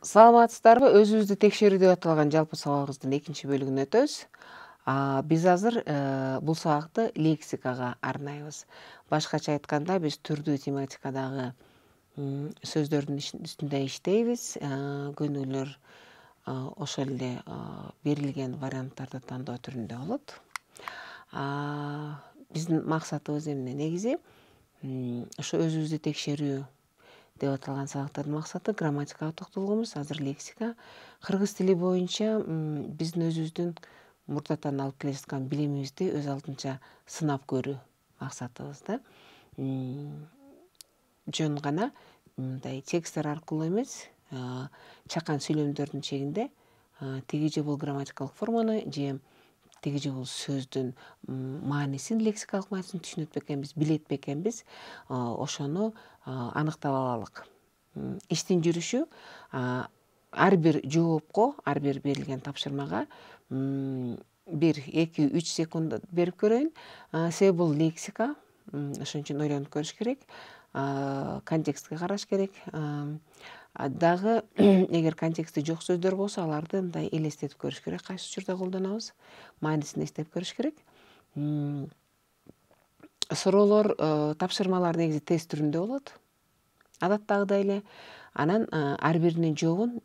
Саламатсыздарбы? Өзүбүздү текшерүү деп аталган жалпы сабагыбыздын экинчи бөлүгүнө өтөбүз. Биз азыр бул сабакты лексикага арнайбыз. Башкача айтканда, биз түрдүү тематикадагы сөздөрдүн үстүндө иштейбиз. Көнүгүүлөр ошол эле берилген варианттарды тандоо түрүндө болот. Биздин максатыбыз эмне? Негизи ошо өзүбүздү текшерүү деп аталган сабактардын максаты грамматикага токтолгонбуз. Азыр лексика. Кыргыз тили боюнча биздин өзүбүздүн мурдатан алып келе жаткан билимибизди өз алдынча сынап көрүү максатыбыз да. Жөн гана мындай тексттер аркылуу эмес, чакан сүйлөмдөрдүн чегинде тиги же бул грамматикалык форманы же тиги же бул сөздүн маанисин, лексикалык маанисин түшүнөт бекенбиз, билет бекенбиз, ошону аныктап алалык. Иштин жүрүшү ар бир жоопко, ар бир берилген тапшырмага 1-2-3 секунд берип көрөйүн. Себеби бул лексика, ошон үчүн ойлонуп көрүш керек, контекстке караш керек. Дагы эгер контексти жок сөздөр болсо, аларды мындай элестетип көрүш керек, кайсы учурда колдонобуз, маанисин эстеп көрүш керек. Суроолор, тапшырмалар негизи тест түрүндө болот, адаттагыдай эле. Анан ар биринин жообун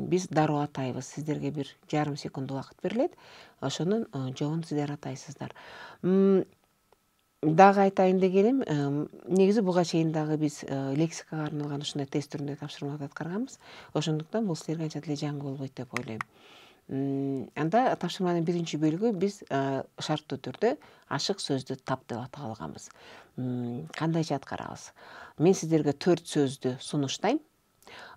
биз дароо атайбыз. Сиздерге 1,5 секунд убакыт берилет. Ошонун жообун сиздер атайсыздар. Дагы айтайын дегеним, негизи буга чейин дагы биз лексикага арналган ушундай тест түрүндө тапшырмаларды аткарганбыз. Ошондуктан бул силерге анча деле жаңы болбойт деп ойлойм. Анда тапшырманын биринчи бөлүгү биз шарттуу түрдө ашык сөздү тап деп атаганбыз. Кандайча аткарабыз? Мен сиздерге 4 сөздү сунуштайм.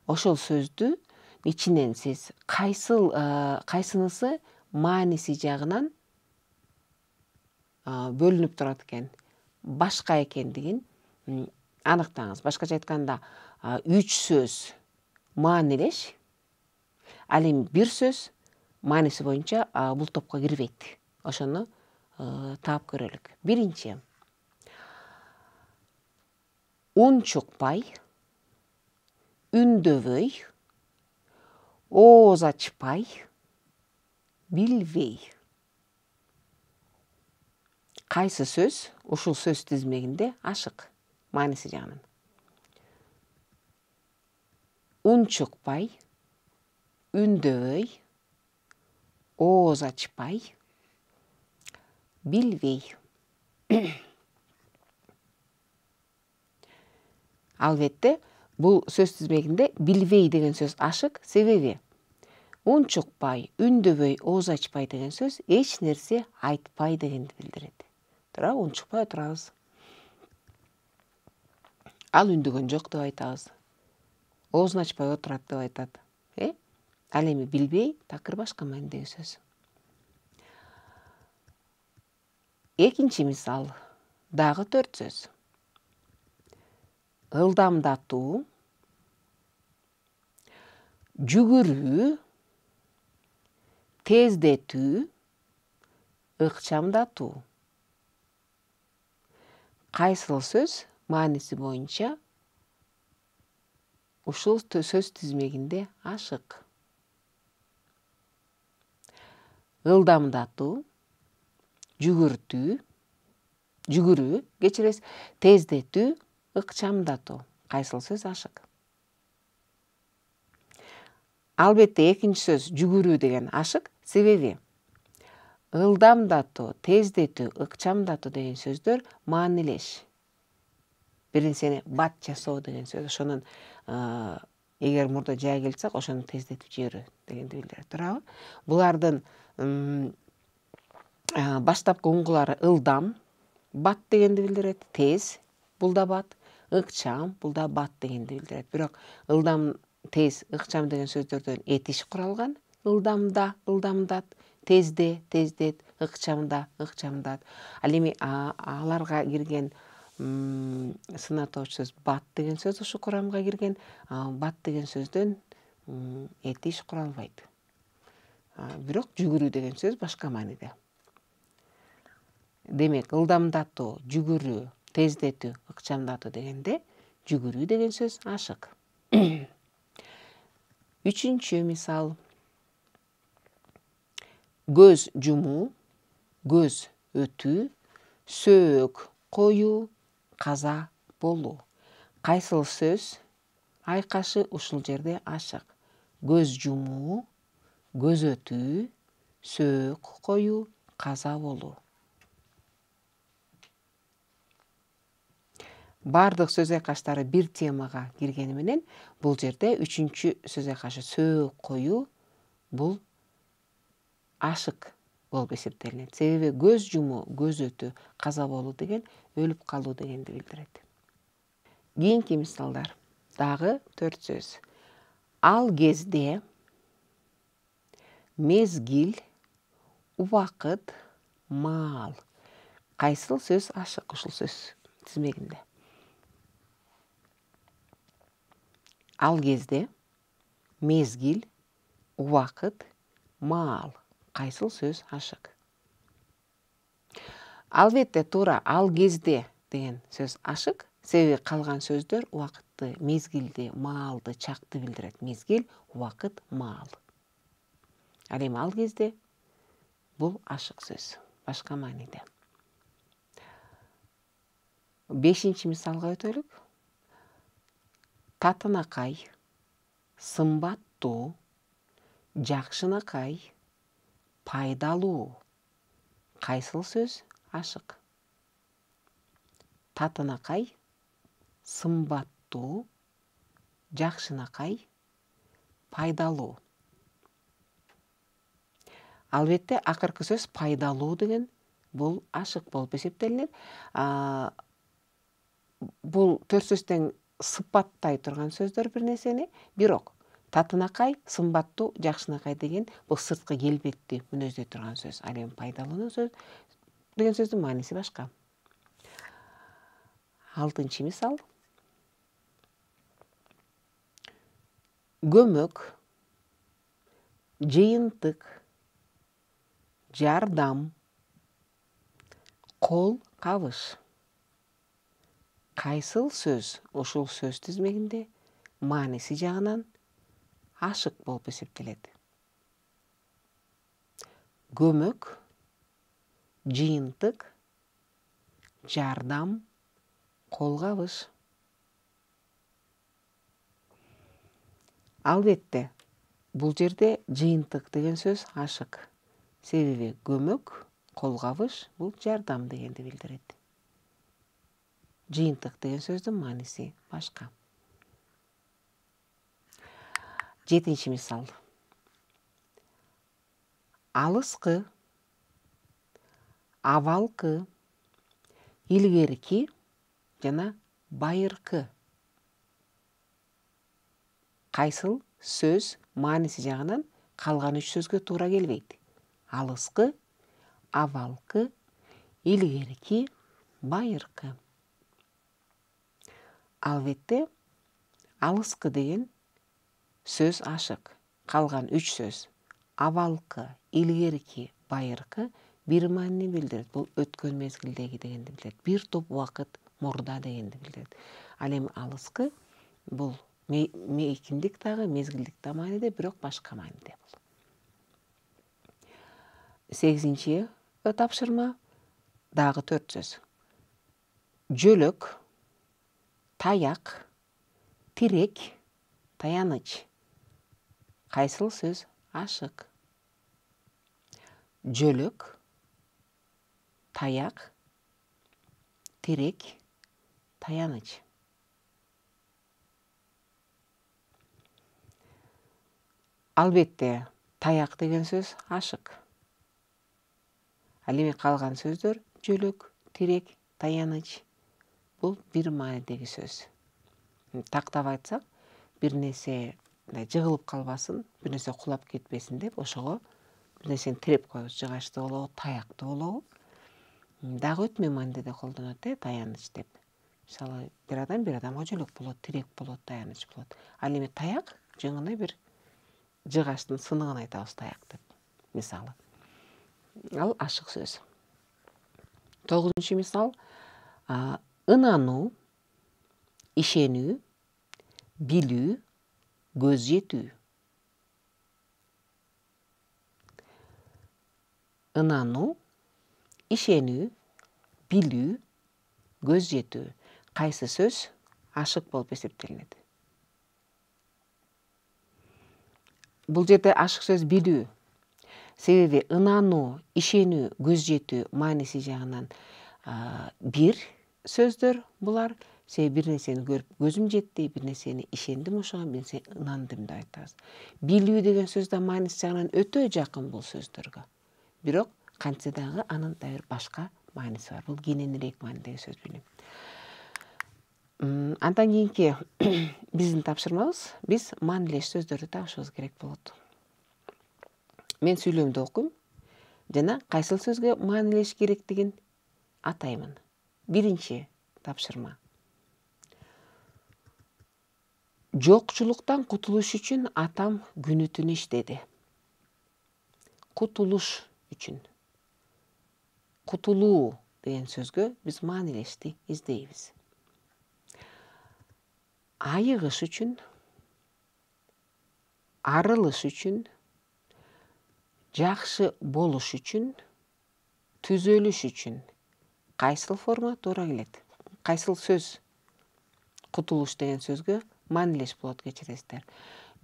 Ошол сөздү ичинен сиз кайсынысы мааниси жагынан бөлүнүп турат экен, башка экендигин аныктаңыз. Башкача айтканда, 3 сөз маанилеш, ал эми бир сөз мааниси боюнча бул топко кирбейт. Ошону таап көрөлүк. Биринчи: ун чукпай, үндөбөй, ооз ачпай, билбей. Кайсы сөз ушул сөз тизмегинде ашык мааниси жагынан? Ун чукпай, үндөбөй, ооз ачпай, билбей. Албетте, бул сөз тизмегинде билбей деген сөз ашык. Себеби ун чукпай, үндөбөй, ооз ачпай деген сөз эч нерсе айтпай дегенди билдирет. Туурабы? Ун чукпай отурабыз. Ал үндөгөн жок деп айтабыз. Оозун ачпай отурат деп айтат. Ал эми билбей такыр башка маанидеги сөз. Экинчи мисал, дагы 4 сөз. Ылдамдатуу, жүгүрүү, тездетүү, ыкчамдатуу. Кайсыл сөз мааниси боюнча ушул сөз тизмегинде ашык? Ылдамдатуу, жүгүрүү, кечиресиз, тездетүү, ыкчамдатуу. Кайсыл сөз ашык? Албетте, экинчи сөз жүгүрүү деген ашык. Себеби ылдамдатуу, тездетүү, ыкчамдатуу деген сөздөр маанилеш. Бир нерсени бат жасоо деген сөз. Ошонун эгер мурда жай келсак, ошону тездетип жиберүү дегенди билдирет. Туурабы? Булардын баштапкы уңгулары ылдам, бат дегенди билдирет. Тез, бул да бат. Ыкчам, бул да бат дегенди билдирет. Бирок ылдам, тез, ыкчам деген сөздөрдөн этиш куралган. Ылдамда, ылдамдат, тезде, тездет, ыкчамда, ыкчамдат. Ал эми аларга кирген сынатоочу сөз бат деген сөз ушу курамга кирген. Бат деген сөздөн этиш куралбайт. Бирок жүгүрүү деген сөз башка мааниде. Демек, ылдамдатуу, жүгүрүү, тездетүү, ыкчамдатуу дегенде жүгүрүү деген сөз ашык. Үчүнчү мисал. Көз жумуу, көз өтүү, сөөк коюу, каза болуу. Кайсыл сөз айкашы ушул жерде ашык? Көз жумуу, көз өтүү, сөөк коюу, каза болуу. Бардык сөз айкаштары бир темага киргени менен бул жерде үчүнчү сөз айкашы сөөк коюу бул ашык болуп эсептелинет. Себеби көз жумуу, көз өтүү, каза болуу деген өлүп калуу дегенди билдирет. Кийинки мисалдар. Дагы 4 сөз. Ал кезде, мезгил, убакыт, маал. Кайсыл сөз ашык ушул сөз тизмегинде? Ал кезде, мезгил, убакыт, маал. Кайсыл сөз ашык? Албетте туура ал кезде деген сөз ашык, себеби калган сөздөр убакытты, мезгилди, маалды, чакты билдирет. Мезгил, убакыт, маал. Ал эми ал кезде бул ашык сөз, башка мааниде. 5-чи мисалга өтөлүк. Татынакай, сымбаттуу, жакшынакай, пайдалуу. Кайсыл сөз ашык? Татынакай, сымбаттуу, жакшынакай, пайдалуу. Албетте акыркы сөз пайдалуу деген бул ашык болуп эсептелинет. Бул 4 сөздөн сыпаттай турган сөздөр бир нерсени, бирок татынакай, сымбаттуу, жакшынакай деген бул сырткы келбетти мүнөздөй турган сөз. Ал эми пайдалуу сөз деген сөздүн мааниси башка. 6-чы мисал. Көмөк, жыйынтык, жардам, кол кабыш. Кайсыл сөз ушул сөз тизмегинде мааниси жагынан ашык болуп эсептелет? Көмөк, жыйынтык, жардам, кол кабыш. Албетте бул жерде жыйынтык деген сөз ашык. Себеби көмөк, кол кабыш бул жардам дегенди билдирет. Жыйынтык деген сөздүн мааниси башка. 7-чи мисал. Алыскы, абалкы, илгерки жана байыркы. Кайсыл сөз мааниси жагынан калган 3 сөзгө туура келбейт? Алыскы, абалкы, илгерки, байыркы. Албетте алыскы деген сөз ашык. Калган 3 сөз абалкы, илгерки, байыркы бир маанини билдирет. Бул өткөн мезгилдеги дегенди билдирет. Бир топ убакыт мурда дегенди билдирет. Ал эми алыскы бул мейкиндик дагы, мезгилдик да мааниде, бирок башка мааниде бул. 8-чи тапшырма. Дагы 4 сөз. Жөлөк, таяк, тирек, таяныч. Кайсыл сөз ашык? Жөлөк, таяк, тирек, таяныч. Албетте таяк деген сөз ашык. Ал эми калган сөздөр жөлөк, тирек, таяныч бул бир маанидеги сөз. Тактап айтсак, бир нерсе жыгылып калбасын, бир нерсе кулап кетпесин деп ошого бир нерсени тиреп коебуз. Жыгачты болобу, таякты болобу. Дагы өтмө мааниде колдонот таяныч деп. Мисалы, бир адамга жөлөк болот, тирек болот, таяныч болот. Ал эми таяк жыңына бир жыгачтын сыныгын айтабыз таяк деп. Мисалы. Ал ашык сөз. 9-чу мисал. Ынануу, ишенүү, билүү, көз жетүү. ынануу, ишенүү, билүү, көз жетүү. Кайсы сөз ашык болуп эсептелинет? Бул жерде ашык сөз билүү. Себеби ынануу, ишенүү, көз жетүү мааниси жагынан бир сөздөр булар. Себеби бир нерсени көрүп көзүм жетти, бир нерсени ишендим, ошого бир нерсени ынандым деп айтабыз. Билүү деген сөз да мааниси жагынан өтө жакын бул сөздөргө. Бирок кантсе дагы анын да бир башка мааниси бар. Бул кененирээк маанидеги сөз билүү. Андан кийинки биздин тапшырмабыз, биз маанилеш сөздөрдү табышыбыз керек болот. Мен сүйлөмдү окуйм жана кайсыл сөзгө маанилеш керектигин атаймын. Биринчи тапшырма. Жокчулуктан кутулуш үчүн атам күнү түнү иштеди. Кутулуш үчүн. Кутулуу деген сөзгө биз маанилешти издейбиз. Айыгыш үчүн, арылыш үчүн, жакшы болуш үчүн, түзөлүш үчүн кайсыл форма туура келет? Кайсыл сөз кутулуш деген сөзгө маанилеш болот, кечиресиздер.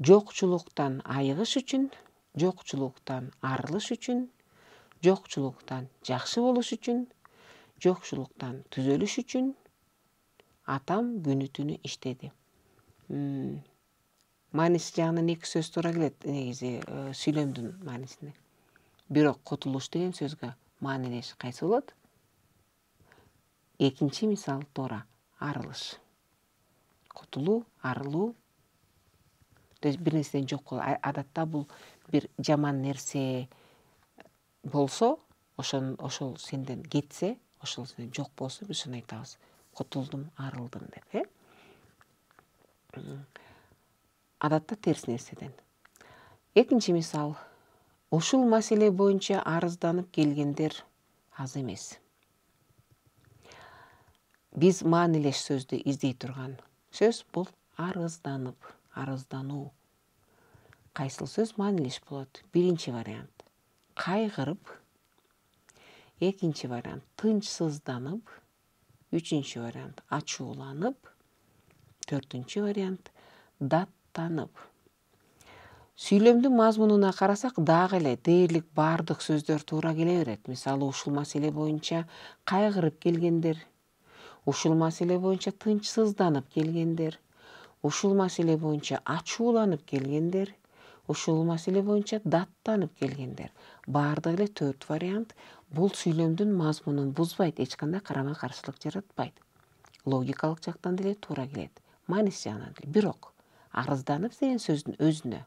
Жокчулуктан айыгыш үчүн, жокчулуктан арылыш үчүн, жокчулуктан жакшы болуш үчүн, жокчулуктан түзөлүш үчүн атам күнү түнү иштеди. Мааниси жагынан эки сөз туура келет негизи сүйлөмдүн маанисине. Бирок кутулуш деген сөзгө маанилеш кайсы болот? Экинчи мисал туура, арылыш. Кутулуу, арылуу. Бир нерседен жок болуу. Адатта бул бир жаман нерсе болсо, ошол сенден кетсе, ошол сенден жок болсо, биз ошону айтабыз. Кутулдум, арылдым деп, Адатта терс нерседен. Экинчи мисал. Ушул маселе боюнча арызданып келгендер аз эмес. Биз маанилеш сөздү издей турган сөз бул арызданып, арыздануу. Кайсыл сөз маанилеш болот? Биринчи вариант кайгырып, экинчи вариант тынчсызданып, үчүнчү вариант ачууланып, төртүнчү вариант даттанып. Сүйлөмдүн мазмунуна карасак дагы эле дээрлик баардык сөздөр туура келе берет. Мисалы, ушул маселе боюнча кайгырып келгендер, ушул маселе боюнча тынчсызданып келгендер, ушул маселе боюнча ачууланып келгендер, ушул маселе боюнча даттанып келгендер. Баардыгы эле төрт вариант бул сүйлөмдүн мазмунун бузбайт, эч кандай карама каршылык жаратпайт. Логикалык жактан деле туура келет. Мааниси жагынан деле. Бирок арызданып деген сөздүн өзүнө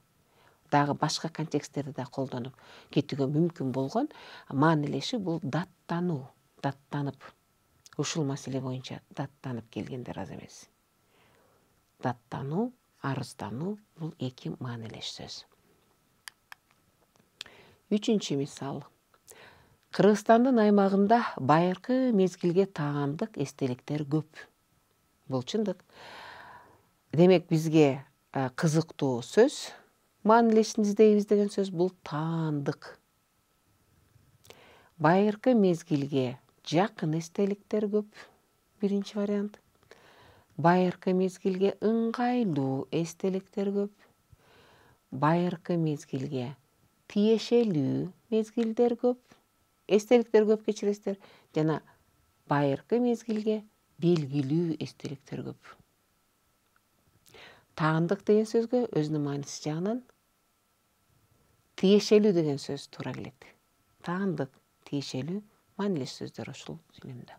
дагы башка контексттерди да колдонуп кетүүгө мүмкүн болгон маанилеши бул даттануу, даттанып. Ушул маселе боюнча даттанып келгендер аз эмес. Даттануу, арыздануу бул эки маанилеш сөз. Үчүнчү мисал. Кыргызстандын аймагында байыркы мезгилге таандык эстеликтер көп. Бул чындык. Демек бизге кызыктуу сөз, маанилешин издейбиз деген сөз бул таандык. Байыркы мезгилге жакын эстеликтер көп. Биринчи вариант. Байыркы мезгилге ыңгайлуу эстеликтер көп. Байыркы мезгилге тиешелүү мезгилдер көп. Эстеликтер көп, кечиресиздер. Жана байыркы мезгилге белгилүү эстеликтер көп. Таандык деген сөзгө өзүнүн мааниси жагынан тиешелүү деген сөз туура келет. Таандык, тиешелүү маанилеш сөздөр ушул сүйлөмдө.